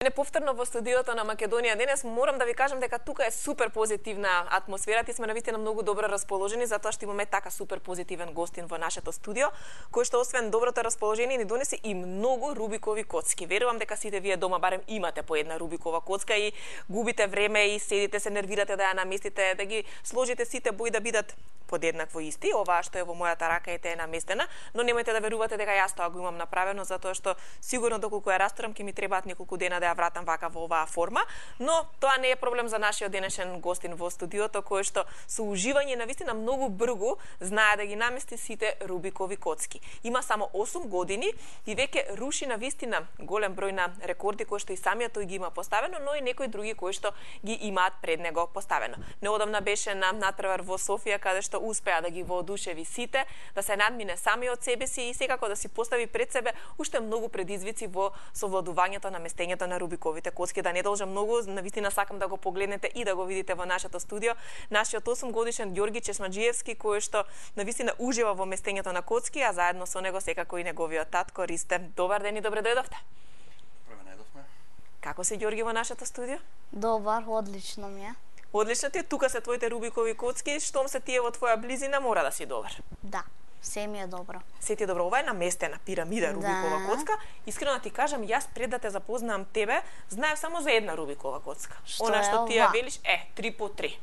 Не повторно во студиото на Македонија денес морам да ви кажам дека тука е супер позитивна атмосферата и сме навистина многу добро расположени затоа што имаме така супер позитивен гостин во нашето студио, кој што освен доброто расположение ни донесе и многу рубикови коцки. Верувам дека сите вие дома барем имате по една рубикова коцка и губите време и седите се нервирате да ја наместите, да ги сложите сите бои да бидат подеднакво исти. Оваа што е во мојата рака е наместена, но немојте да верувате дека јас тоа го имам направено затоа што сигурно доколку ја растурам ќе ми требаат неколку дена да ја вратам вака во оваа форма, но тоа не е проблем за нашиот денешен гостин во студиото кој што со уживање навистина многу бргу знае да ги намести сите рубикови коцки. Има само 8 години и веќе руши навистина голем број на рекорди кои што и самиот тој ги има поставено, но и некои други кои што ги имаат пред него поставено. Неодамна беше на натпревар во Софија каде што успеа да ги воодушеви сите, да се надмине сами од себе си и секако да си постави пред себе уште многу предизвици во совладувањето на местењето на рубиковите коцки. Да не должам многу, навистина сакам да го погледнете и да го видите во нашето студио. Нашиот 8 годишен Ѓорги Чешмаџиевски кој што навистина ужива во местењето на коцки, а заедно со него секако и неговиот татко Ристе. Добар ден и добре дојдовте. Добре најдовме. Како си Ѓорги во нашето студио? Добар, одлично ми е. Одлично ти е, тука се твоите рубикови коцки, штом се тие во твоја близина мора да си добар. Да, се ми е добро. Се ти е добро, ова е наместена пирамида рубикова коцка. Искрено да ти кажам, јас пред да те запознам тебе, знаев само за една рубикова коцка. Она што ти ја велиш е 3 по 3.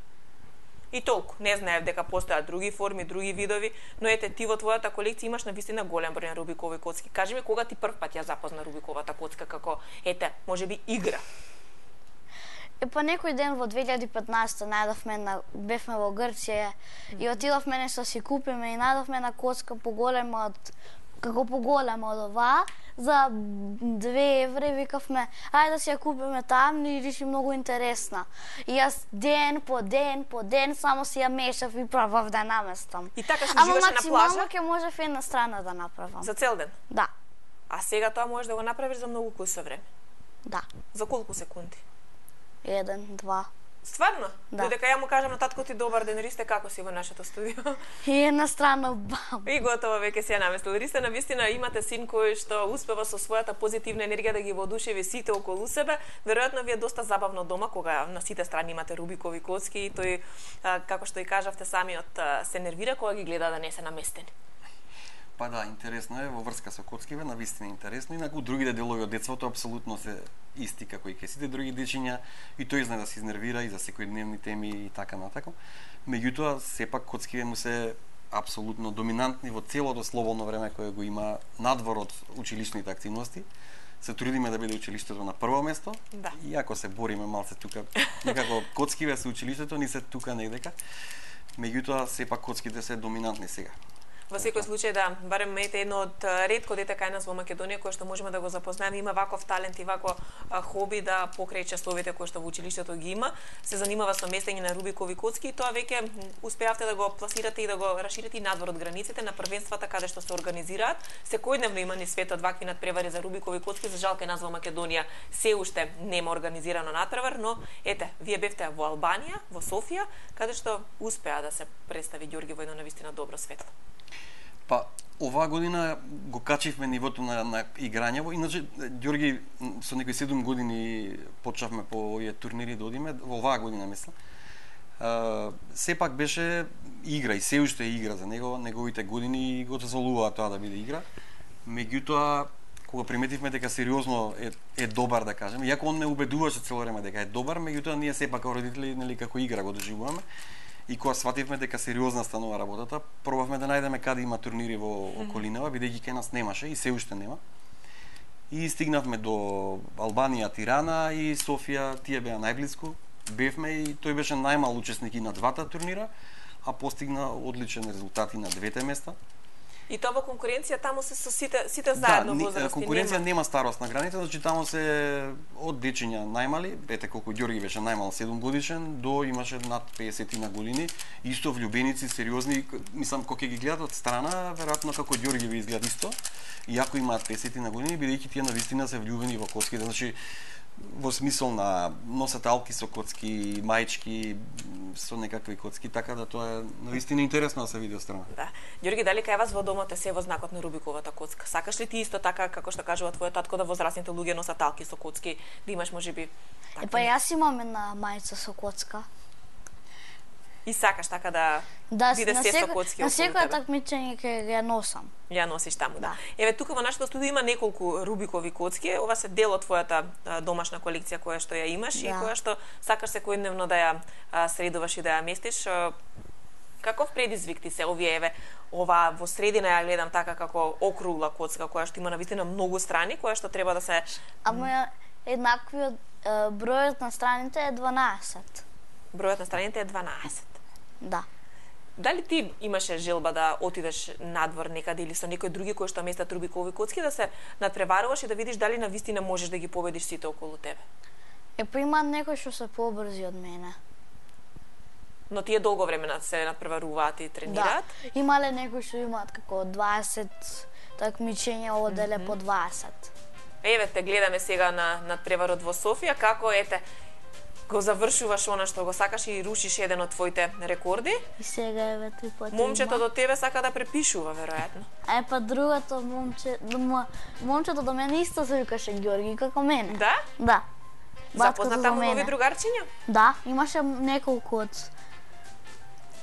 И толку. Не знаев дека постојат други форми, други видови, но ете ти во твојата колекција имаш навистина голем број на рубикови коцки. Кажи ми кога ти прв пат ја запозна рубиковата коцка како можеби игра? Па некој ден во 2015 најдовме бевме во Грција и отидовме нешто си купиме и најдовме на коцка поголема од оваа за 2 евра, викавме ајде да си ја купиме таму и речи многу интересна. И јас ден по ден само си ја мешав и пробав да наместам. И така се уживаше на плажа? Ама максимално ќе можев една страна да направам. За цел ден? Да. А сега тоа можеш да го направиш за многу куса време? Да. За колку секунди? 1, 2. Стварно? Да. Додека ја му кажам на татко ти добар ден, Ристе, како си во нашето студио? И една страна бам. И готово, веќе си ја наместил. Ристе, навистина имате син кој што успева со својата позитивна енергија да ги воодушеви сите околу себе. Веројатно ви е доста забавно дома кога на сите страни имате рубикови коцки и тој, како што и кажавте самиот, се нервира кога ги гледа да не се наместени. Па да, интересно е во врска со коцкиве, навистина интересно. Инаку другите делови од детството апсолутно се исти како и ке сите други дечиња и тој знае да се изнервира и за секојдневни теми и така натака. Меѓутоа, сепак коцкиве му се апсолутно доминантни во целото слободно време кое го има надвор од училишните активности. Се трудиме да биде училиштето на прво место. Да. Иако се бориме малце тука, некако коцкиве со училиштето ни се тука негдека. Меѓутоа, сепак коцките се доминантни сега. Во секој случај да, барем мете едно од ретко дете кај нас во Македонија кој што можеме да го запознаеме, има ваков талент и вако хоби да покрај часовите кои што во училиштето ги има, се занимава со местење на рубикови коцки и тоа веќе успеавте да го пласирате и да го расширите и надвор од границите на првенствата каде што се организираат. Секојдневно има ни светот вакви надпревари за рубикови коцки, за жал кај нас во Македонија се уште нема организирано надпревар, но ете, вие бевте во Албанија, во Софија, каде што успеа да се представи Ѓорги во едно навистина добро светло. Па, оваа година го качивме нивото на играње, иначе Ѓорги со некои 7 години почнавме по овие турнири да одиме, во оваа година мислам. Сепак беше игра и се уште е игра за него, неговите години го дозволуваа тоа да биде игра. Меѓутоа, кога приметивме дека сериозно е добар, да кажем, иако он ме убедуваше цело време дека е добар, меѓутоа ние сепак како родители, нели, како игра го доживуваме. И кога свативме дека сериозна станува работата, пробавме да најдеме каде има турнири во околинава, бидејќи кај нас немаше и се уште нема. И стигнавме до Албанија, Тирана и Софија, тие беа најблиску. Бевме и тој беше најмал учесник и на двата турнира, а постигна одличен резултати на двете места. И тоа во конкуренција таму се со сите заедно возрасти. Да, конкуренција нема старосна граница, значи таму се од дечиња најмали, ете колку Ѓорги беше најмал 7 годишен, до имаше над 50 на години, исто влюбеници, сериозни, мислам кога ќе ги гледат од страна, веројатно како Ѓорги ви изгледа исто, иако имаат 50 на години, бидејќи тие навистина се влюбени во коцките, значи во смисол на носеталки со коцки, маички со некакви коцки, така да тоа е навистина интересно да се види од страна. Да. Ѓорги, дали кај вас во домот е се во знакот на Рубиковата коцка? Сакаш ли ти исто така како што кажува твојот татко да возрасните луѓе носат талки со коцки, да имаш можеби такви? Па јас имам една мајца со коцка. И сакаш така да биде се со коцки на околу секоја тебе? такмичење ќе ја носам. Ја носиш таму, да. Еве тука во нашето студио има неколку Рубикови коцки. Ова се дел од твојата домашна колекција која што ја имаш и која што сакаш секојдневно да ја средуваш и да ја местиш. Каков предизвик ти се овие еве ова во средина ја гледам така како округла коцка која што има навистина многу страни, која што треба да се Ама еднаквиот бројот на страните е 12. бројот на страните е 12. Да. Дали ти имаше желба да отидеш надвор некаде или со некои други кои што местат Рубикови коцки да се надпреваруваш и да видиш дали навистина можеш да ги победиш сите околу тебе? Па има некои што се побрзи од мене. Но тие долго време се надпреваруваат и тренираат? Да. Имале некои што имаат како 20 такмичења оделе по 20. Еве те гледаме сега на надпреварот во Софија, како ете го завршуваш она што го сакаш и рушиш еден од твоите рекорди. И сега еве 3 пати. Момчето до тебе сака да препишува веројатно. Па другото момчето до мене исто се викаше Ѓорги како мене. Да? Да. Запозна таму нови другарчиња? Да, имаше неколку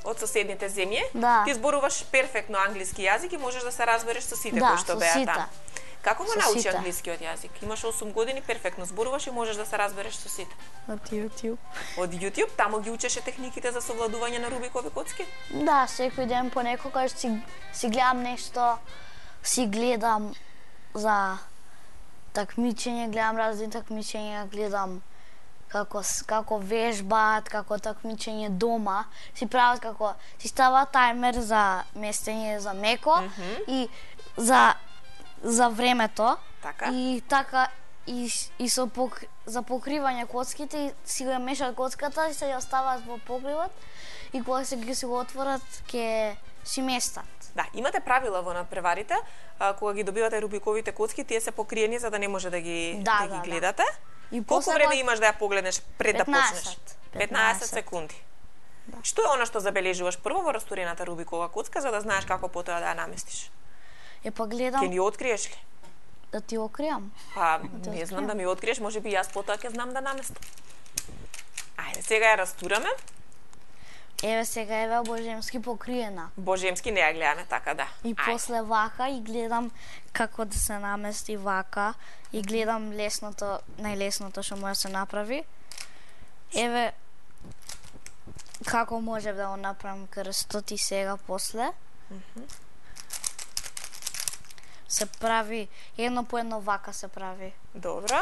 од соседните земји. Да. Ти зборуваш перфектно англиски јазик и можеш да се разбереш со сите кои што беа таму. Како го научи англискиот јазик? Имаш 8 години, перфектно зборуваш и можеш да се разбереш со сите. Од YouTube. Од YouTube? Таму ги учеше техниките за совладување на Рубикови коцки? Да, секој ден понекогаш си гледам нешто, си гледам за такмичење, гледам разни такмичења, гледам како вежбаат, како такмичење дома, си прават како си стават тајмер за местење за меко и за времето. Така. И така и за покривање коцките и си го мешаат коцката и се ја оставаат во покривот и кога се ги го отворат ќе си местат. Да, имате правила во надпреварите, кога ги добивате Рубиковите коцки, тие се покриени за да не може да ги гледате. И колку време имаш да ја погледнеш пред 15, да почнеш? 15 секунди. Да. Што е она што забележуваш прво во растурената Рубикова коцка за да знаеш како потоа да ја наместиш? Па гледам. Ќе ни откриеш ли? Да ти откриам. Па, не знам да ми откриеш, можеби јас потоа ќе знам да наместам. Ајде, сега ја растураме. Еве сега еве Божемски покриена. Божемски не ја гледаме така, да. И после вака и гледам како да се намести вака и гледам најлесното што може да се направи. Еве како може да го направам крстот и сега после. Се прави едно по едно вака се прави. Добро.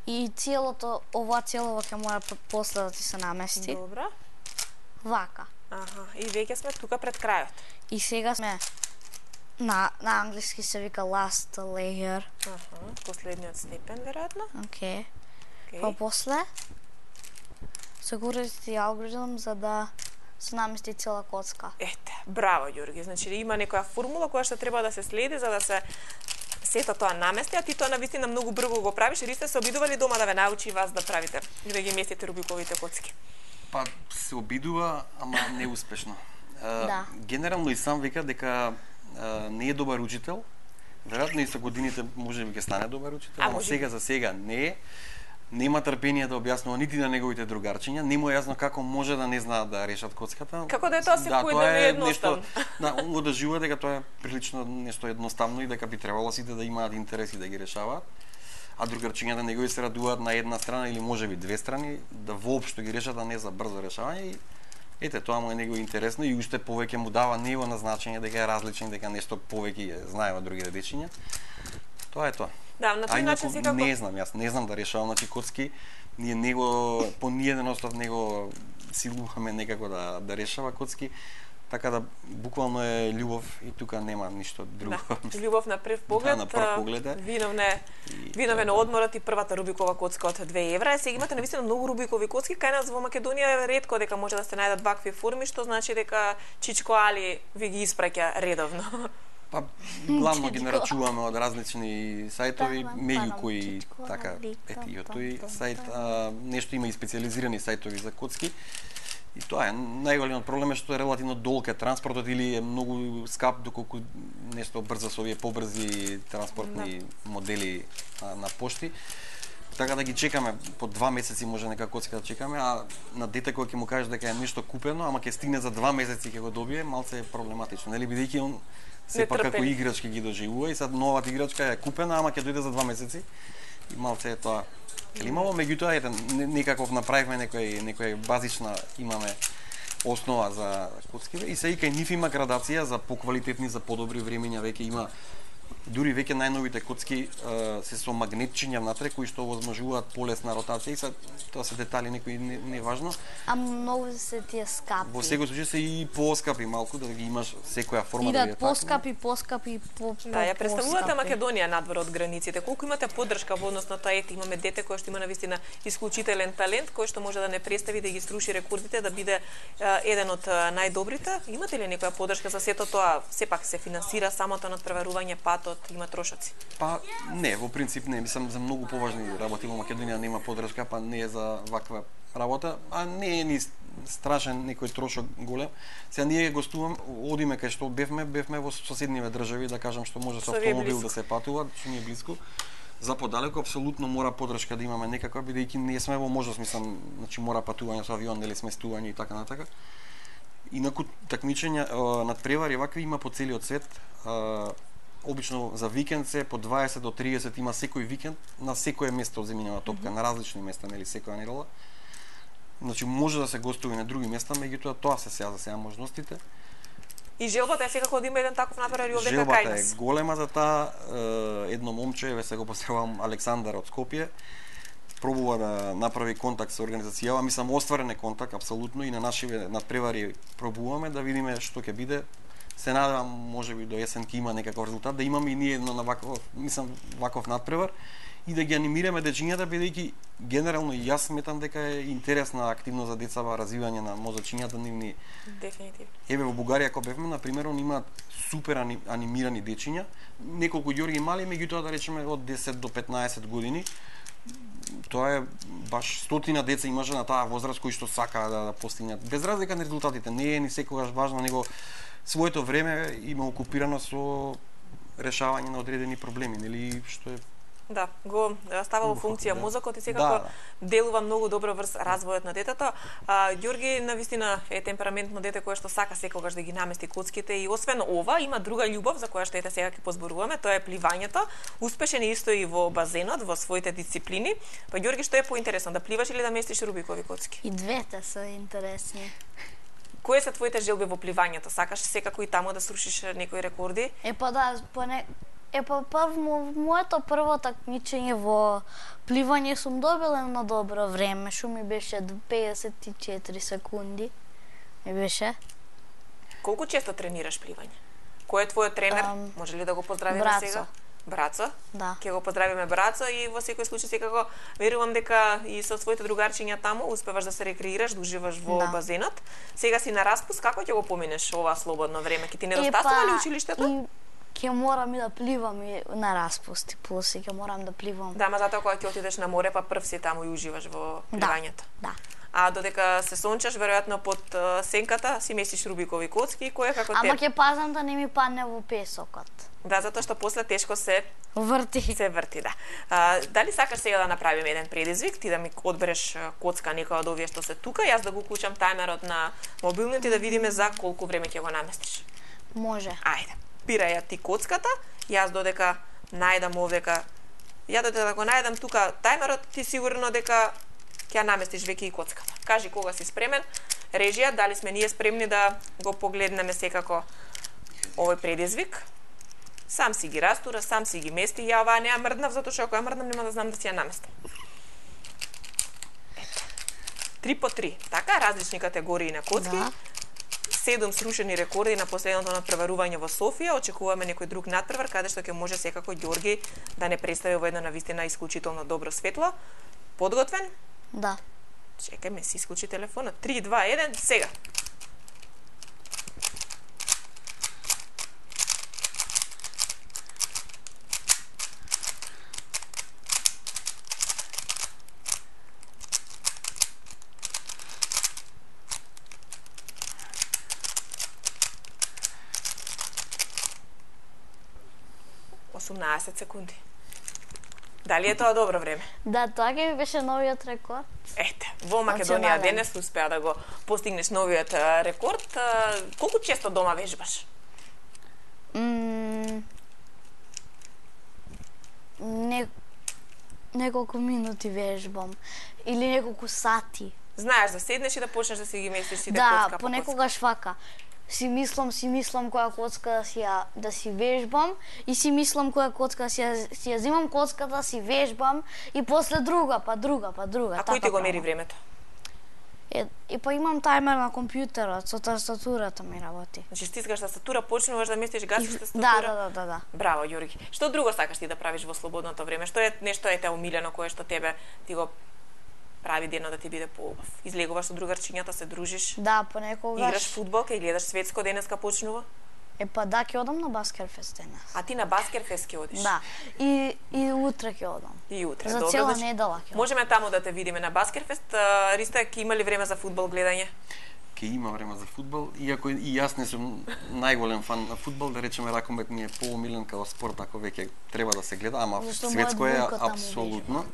И ова целово ќе мора после да ти се намести. Добро. Вака. И веќе сме тука пред крајот. И сега сме на англиски се вика last layer. Последниот степен веројатно. Океј. Па после се користи алгоритм за да се намести цела коцка. Ете, браво Ѓорги. Значи има некоја формула која што треба да се следи за да се сето тоа намести, а ти тоа навистина многу брзо го правиш. Или сте се обидували дома да ве научи вас да правите и да ги местите Рубиковите коцки? Па се обидува, ама неуспешно. Да. Генерално и сам вика дека не е добар учител. Веројатно и со годините можеби ќе стане добар учител, ама сега за сега не е. Нема трпение да објаснува нити на неговите другарчиња, не му е јасно како може да не знаат да решат коцката. Како да е тоа секојдневно едноставно. Да, он го доживува дека тоа е прилично нешто едноставно и дека би требало сите да имаат интереси да ги решаваат. А другарчињата негови се радуваат на една страна или можеби две страни да воопшто ги решат, а не за брзо решавање. И ете, тоа му е него интересно и уште повеќе му дава него на значење дека е различен, дека нешто повеќе знае од другите дечиња. Тоа е тоа. Да, на тој начин секако. Не знам, јас не знам да решавам коцки. Ние него по ниеден остав него силуваме некако да решава коцки. Така да буквално е љубов и тука нема ништо друго. Да, љубов на прв поглед. Да, на прв поглед е. Виновен одморот и првата Рубикова коцка од 2 евра. Сега имате навистина многу Рубикови коцки, кај нас во Македонија е ретко дека може да се најдат вакви форми, што значи дека Чичко Али ви ги испраќа редовно. Па главно ги нарачуваме од различни сајтови, меѓу кои така ето тој сајт, нешто има и специјализирани сајтови за коцки. И тоа е најголемиот проблем е што е релативно долг е транспортот или е многу скап доколку нешто брзо со овие побрзи транспортни модели на пошти. Така да ги чекаме по 2 месеци може нека коцка да чекаме, а на дете кој ќе му кажеш дека е нешто купено, ама ќе стигне за 2 месеци ќе го добие, малце е проблематично, нели бидејќи он сепак како играчки ги доживува и сад новата играчка е купена, ама ќе дојде за 2 месеци и малце е тоа климаво, меѓутоа ете некаков направивме некоја базична имаме основа за коцкиве и се и кај нив има градација за поквалитетни, за подобри времења, веќе има дури веќе најновите коцки се со магнетчиња внатре кои што овозможуваат полесна ротација и тоа се детали некои не важно. А многу се тие скапи. Во секој случај се и поскапи малку да ги имаш секоја форма да ја поскапи. Да, ја представувате Македонија надвор од границите. Колку имате поддршка во однос на тоа, ете имаме дете кој што има навистина исклучителен талент, кој што може да не представи да ги струши рекордите, да биде еден од најдобрите. Имате ли некоја поддршка за сето тоа? Сепак се финансира самото надпреварување, патот, има трошоци? Па не, во принцип не, мислам за многу поважни работи во Македонија нема поддршка, па не е за ваква работа, а не е ни страшен некој трошок голем. Сега ние гостувам, одиме кај што бевме во соседниве држави, да кажам што може со автомобил да се патува, што ни е блиску. За подалеку апсолутно мора поддршка да имаме некаква, бидејќи не сме во можност, мислам, значи мора патување со авион или сместување и така натака. Инаку такмичења надпревари вакви има по целиот свет. Обично за викенд се по 20 до 30 има секој викенд на секое место од земјинава топка, на различни места, нели секоја недела. Значи може да се гостува и на други места, меѓутоа тоа се сега за сега можностите. И желбата е секако да има еден таков надпревар и овде кај нас. Желбата е голема за таа. Едно момче, се го поздравувам, Александар од Скопје, пробува да направи контакт со организацијава, мислам остварен е контакт апсолутно и на нашиве надпревари пробуваме да видиме што ќе биде. Се надевам можеби до есен ќе има некаков резултат, да имаме и ние едно на ваков надпревар и да ги анимираме дечињата, бидејќи генерално и јас сметам дека е интересна активност за деца во развивање на мозочињата нивни. Дефинитивно. Еве во Бугарија кога бевме, на пример, има супер анимирани дечиња, неколку ѓорги мали, меѓутоа да речеме од 10 до 15 години. Тоа е баш стотина деца имаше на таа возраст кои што сакаа да постигнат. Без разлика на резултатите, не е ни секогаш важно, него своето време има окупирано со решавање на одредени проблеми, нели што е. Да, го става во функција мозокот и секако делува многу добро врз развојот на детето. Ѓорги навистина е темпераментно дете кое што сака секогаш да ги намести коцките и освен ова има друга љубов за која што ете сега ќе позборуваме, тоа е пливањето. Успешен е исто и во базенот, во своите дисциплини. Па Ѓорги, што е поинтересно, да пливаш или да местиш Рубикови коцки? И двете се интересни. Кои се твоите желби во пливањето? Сакаш секако и таму да срушиш некои рекорди? Моето прво такмичење во пливање сум добила на добро време, што ми беше 54 секунди. Ми беше. Колку често тренираш пливање? Кој е твојот тренер? Може ли да го поздравиме сега? Брацо? Да. Ќе го поздравиме Брацо и во секој случај секако верувам дека и со своите другарчиња таму успеваш да се рекреираш, да уживаш во базенот. Сега си на распуст, како ќе го поминеш ова слободно време? Ќе ти недостасува ли училиштето? Ќе морам и да пливам и на распусти, плюс и ќе морам да пливам. Да, ма затоа кога ќе отидеш на море, па прв си таму и уживаш во пливањето. Да. А додека се сончаш, веројатно под сенката си месиш Рубикови коцки, кој е како те? Ама ќе пазам да не ми падне во песокот. Да, затоа што после тешко се врти. Се врти, да. Дали сакаш сега да направиме еден предизвик, ти да ми одбереш коцка некоја од овие што се тука, јас да го уклучам тајмерот на мобилниот и да видиме за колку време ќе го наместиш? Може. Ајде. Пира ја ти коцката, јас додека најдам овдека, ја додека да го најдам тука тајмерот, ти сигурно дека ќе наместиш веќе и коцката. Кажи кога си спремен, режија, дали сме ние спремни да го погледнеме секако овој предизвик. Сам си ги растура, сам си ги мести, ја оваа не ја мрднав, затоа што ако ја мрднам нема да знам да си ја наместам. 3 по 3, така, различни категории на коцки. Да. 7 срушени рекорди на последното надпреварување во Софија. Очекуваме некој друг надпревар каде што ќе може секако Ѓорги да не представи во едно навистина исклучително добро светло. Подготвен? Да. Чекај, ме си исклучи телефонот. 3, 2, 1, сега. секунди. Дали е тоа добро време? Да, тоа ќе ми беше новиот рекорд. Ете, во Македонија денес успеа да го постигнеш новиот рекорд. Колку често дома вежбаш? Неколку минути вежбам или неколку сати. Знаеш да седнеш и да почнеш да си ги местиш сите кocка по кocка. Да, понекогаш вака. Си мислам која коцка да си вежбам и си мислам која коцка си ја земам коцката, си вежбам и после друга, па друга. А кој ти го мери времето? И па имам таймер на компјутерот, со тастатурата ми работи. Значи стискаш тастатура, почнуваш да местиш, гасиш тастатура? Да. Браво, Ѓорги. Што друго сакаш ти да правиш во слободното време? Што е нешто ете омилено кое што тебе ти го прави денот да ти биде поубав? Излегуваш со другарчињата, се дружиш? Да, понекогаш. Играш фудбал, кај гледаш светско денеска почнува? Па да, ќе одам на Баскерфест денес. А ти на Баскерфест ќе одиш? Да. И утре ќе одам. И утре, за добро. цела недела ќе одам. Можеме таму да те видиме на Баскерфест. Риста, ќе има ли време за фудбал гледање? Ќе има време за фудбал, иако и јас не сум најголем фан на фудбал, да речеме ракомет ми е поомилен као спорт, ако веќе треба да се гледа, ама светско е апсолутно.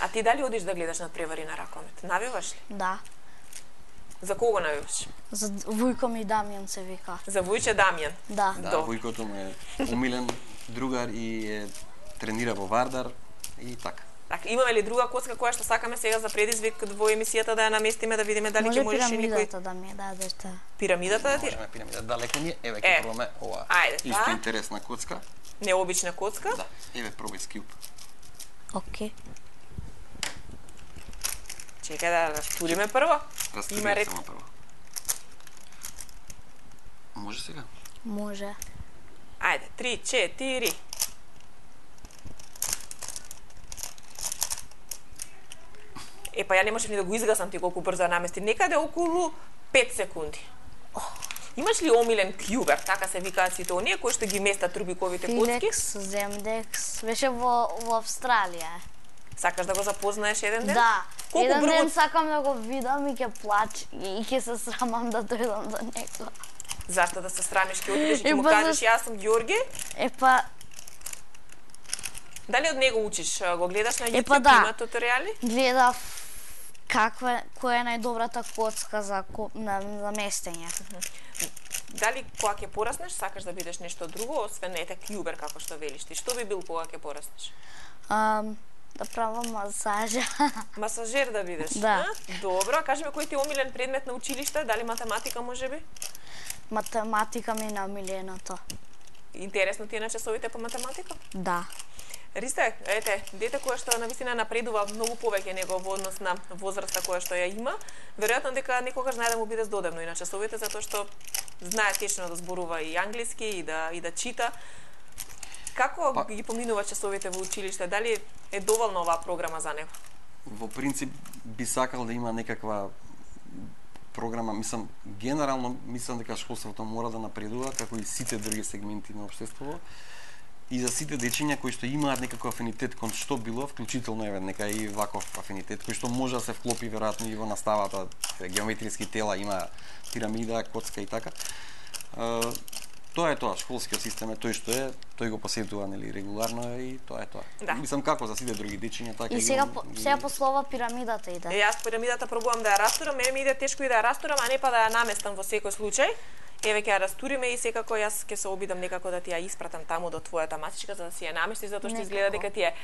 А ти дали одиш да гледаш надпревари на ракомет? Навиваш ли? Да. За кого навиваш? За Вујко ми Дамјан се вика. За Вујче Дамјан? Да. Да, Вујкото ми е умилен другар и тренира во Вардар и така. Така, имаме ли друга коцка која што сакаме сега за предизвик во емисијата да ја наместиме, да видиме дали ќе можеш и никој... Може пирамидата да ми дадете. Пирамидата да ти? Можеме пирамидата, далеко ни е. Еве ќе пробаме ова. Ајде, исто интересна коцка. Необична коцка? Да, еве пробај скјуп. Окей. Чекај да растуриме прво. Растуриме само прво. Може сега? Може. Ајде, 3, 4. Па ја не можев ни да го изгасам ти колку брзо ја намести. Некаде околу 5 секунди. Имаш ли омилен кјубер, така се викаат сите оние кои што ги местат рубиковите коцки? Филекс, Земдекс, беше во Австралија. Сакаш да го запознаеш еден ден? Да. Колку еден брзо... ден сакам да го видам и ќе плачам и ќе се срамам да дојдам до него. Зашто да се срамиш, ќе отидеш и ќе му кажеш јас сум Ѓорги? Дали од него учиш? Го гледаш на YouTube, да. Има туторијали? Гледав која е најдобрата коцка за местење. Дали кога ќе пораснеш, сакаш да бидеш нешто друго, освен ете кјубер како што велиш ти? Што би бил кога ќе пораснеш? Да правам масажа. Масажер да бидеш? Да. Добро, кажи ми кој ти е омилен предмет на училиште? Дали математика можеби? Математика ми е најомиленото. Интересно ти е на часовите по математика? Да. Ристе, ете, дете кое што навистина напредува многу повеќе него во однос на возраста која што ја има, веројатно дека некогаш знае да му биде здодевно и на часовите, затоа што знае течно да зборува и англиски и да чита. Како ги поминува часовите во училиште? Дали е доволна оваа програма за него? Во принцип би сакал да има некаква програма, генерално мислам дека школството мора да напредува како и сите други сегменти на општеството. И за сите дечиња кои што имаат некаков афинитет кон што било, вклучително еве нека и ваков афинитет кој што може да се вклопи веројатно и во наставата, геометриски тела, има пирамида, коцка и така. Тоа е тоа, школскиот систем е тој што е, тој го посетува нели регуларно и тоа е тоа. Да. Мислам како за сите други дечиња така и сега послова пирамидата иде. Јас пирамидата пробувам да ја растурам, мене ми иде тешко и да ја растурам, а не па да ја наместам во секој случај. Еве ќе ја растуриме и секако јас ќе се обидам некако да ти ја испратам таму до твојата масичка за да си ја наместиш, затоа што изгледа дека ти е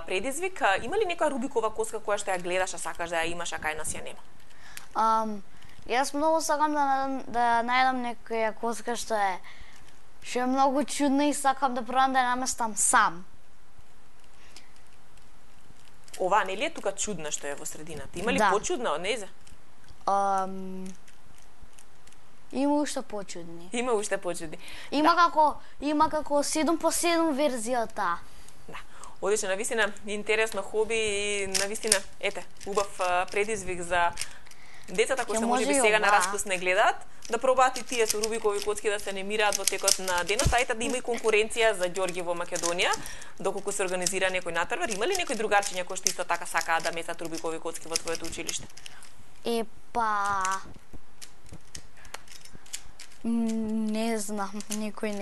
предизвик. Има ли некоја рубикова коцка која што ја гледаш, а сакаш да ја имаш, а кај нас ја нема? Јас многу сакам да најдам некоја коцка што е многу чудна и сакам да пробам да ја наместам сам. Ова нели е тука чудна што е во средината? Има ли почудна од нејзе? Има уште почудни. Има уште почудни. Има како 7x7 верзијата. Да. Одлично, навистина интересно хоби и навистина, убав предизвик за децата кои што можеби сега на распуст не гледаат, да пробаат и тие со Рубикови коцки да се немираат во текот на денот, а да има и конкуренција за ѓорги во Македонија, доколку се организира некој натпревар. Има ли некои другарчиња кои што исто така сакаат да месат Рубикови коцки во твоето училиште? Не знам, никој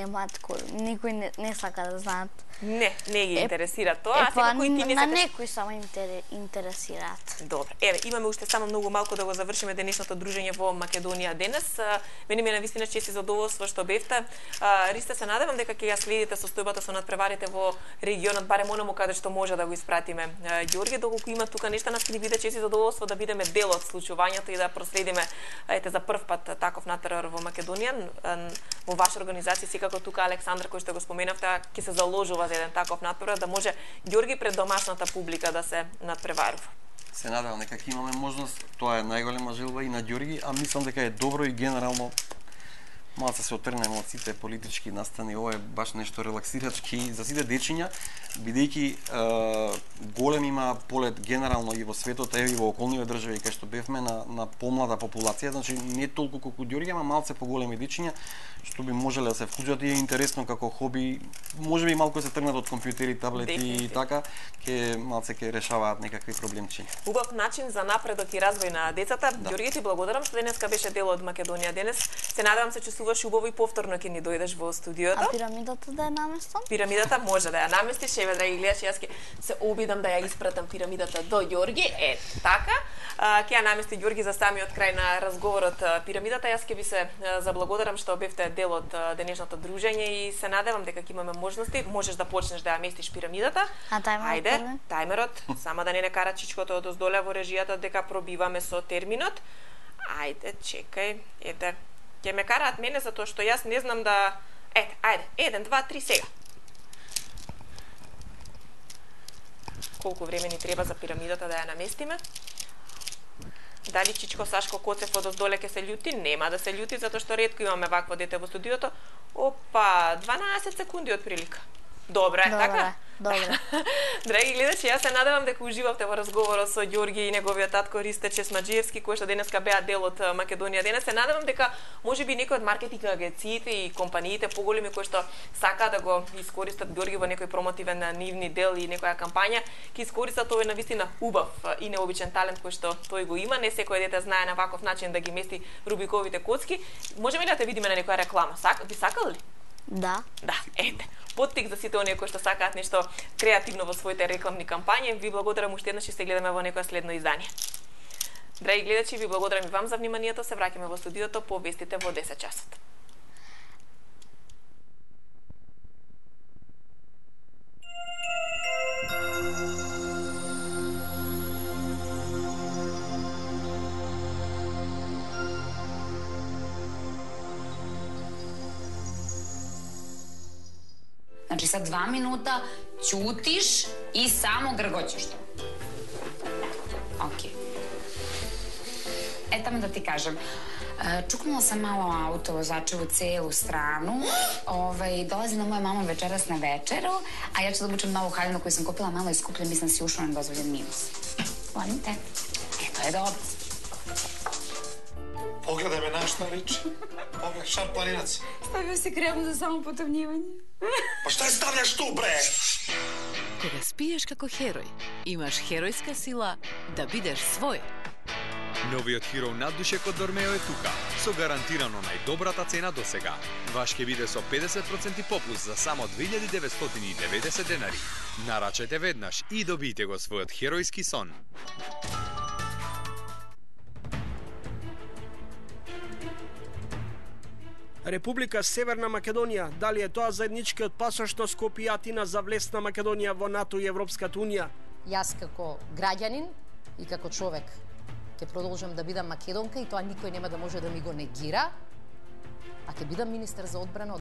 не сака да знаат. Не ги интересира тоа, кои ти не на некои само интересираат. Добро. Имаме уште само многу малку да го завршиме денешното дружење во Македонија денес. Мене ми е навистина чест и задоволство што бевте. Ристо, се надевам дека ќе ја следите состојбата со надпреварите во регионот, барем онаму каде што може да го испратиме Ѓорги, доколку има тука нешта, нас ќе ни биде чест и задоволство да бидеме дел од случувањето и да проследиме за прв пат таков натпревар во Македонија. Во ваша организација, секако тука Александра, кој што го споменавте, ќе се заложува за еден таков натпревар, да може Ѓорги пред домашната публика да се надпреварува. Се надевам дека ќе имаме можност, тоа е најголема желба и на Ѓорги, а мислам дека е добро и генерално малце се отрнеме од сите политички настани, ова е баш нешто релаксирачки за сите дечиња, бидејќи голем има полет генерално и во светот, и во околните држави кај што бевме на помлада популација, значи не толку колку Ѓорги, ама малце поголеми дечиња, што би можеле да се вклучат и е интересно како хоби, можеби малку се тргнат од компјутери, таблети и така, малце ќе решаваат некакви проблемчи. Убав начин за напредок и развој на децата. Ѓорги, ти благодарам што денеска беше дел од Македонија денес. Се надевам се чувствуваш убаво и повторно ќе ни дојдеш во студиото. А пирамидата да ја наместам? Пирамидата може да ја наместиш, драги гледачи, јас ќе се обидам да ја испратам пирамидата до Ѓорги. Така. Ќе ја намести Ѓорги за самиот крај на разговорот пирамидата. Јас ќе ви се заблагодарам што бевте дел од денешното дружење и се надевам дека ќе имаме можности. Можеш да почнеш да ја местиш пирамидата. А тајмерот? Ајде, тајмерот. Само да не кара чичкото од оздоле во режијата дека пробиваме со терминот. Ајде, чекај. Ќе ме караат мене затоа што јас не знам да... Ајде, 1, 2, 3 сега. Колку време ни треба за пирамидата да ја наместиме? Дали Чичко Сашко Коцев од оздоле ќе се љути? Нема да се љути, затоа што ретко имаме вакво дете во студиото. 12 секунди од прилика. Добро е, така? Добро. Драги гледачи, јас се надевам дека уживавте во разговорот со Ѓорги и неговиот татко Ристе Чесмаџиевски, кој што денеска беа дел од Македонија денес. Се надевам дека можеби некои од маркетинг агенциите и компаниите поголеми кои што сакаат да го искористат Ѓорги во некој промотивен нивни дел и некоја кампања, ќе искористат овој навистина убав и необичен талент кој што тој го има. Не секој дете знае на ваков начин да ги мести Рубиковите коцки. Можеме ли да те видиме на некоја реклама? Би сакал ли? Да. Да, поттик за сите оние кои што сакаат нешто креативно во своите рекламни кампањи. Ви благодарам уште еднаш и се гледаме во некоја следно издание. Драги гледачи, ви благодарам и вам за вниманието. Се враќаме во студиото по вестите во 10 часот. Значи, са 2 минута ќутиш и само гргочиш тоа. Океј. Етаме да ти кажем. Чукнала sam malo auto vozača u celu stranu. Dolazi na moja mama večeras na večeru, a ja ću da obučem novu haljinu koju sam kupila malo iskupljen, mislim si ušla na dozvoljen minus. Volim te. To je dobro. Pogledaj me na šta liči. Pogledaj, šar planinac. Stavio si kremu za samopotavnjivanje. Pa šta je stavljaš tu, bre? Кога спиеш како херој, имаш херојска сила да бидеш свој. Новиот Hero наддушек од Дормео е тука, со гарантирано најдобрата цена до сега. Ваш ќе биде со 50% попуст за само 2990 денари. Нарачајте веднаш и добијте го својот херојски сон. Република Северна Македонија, дали е тоа заедничкиот пасош што Скопје и Атина за влез на Македонија во НАТО и Европската Унија? Јас како граѓанин и како човек ќе продолжам да бидам македонка и тоа никој нема да може да ми го негира, а ќе бидам министер за одбрана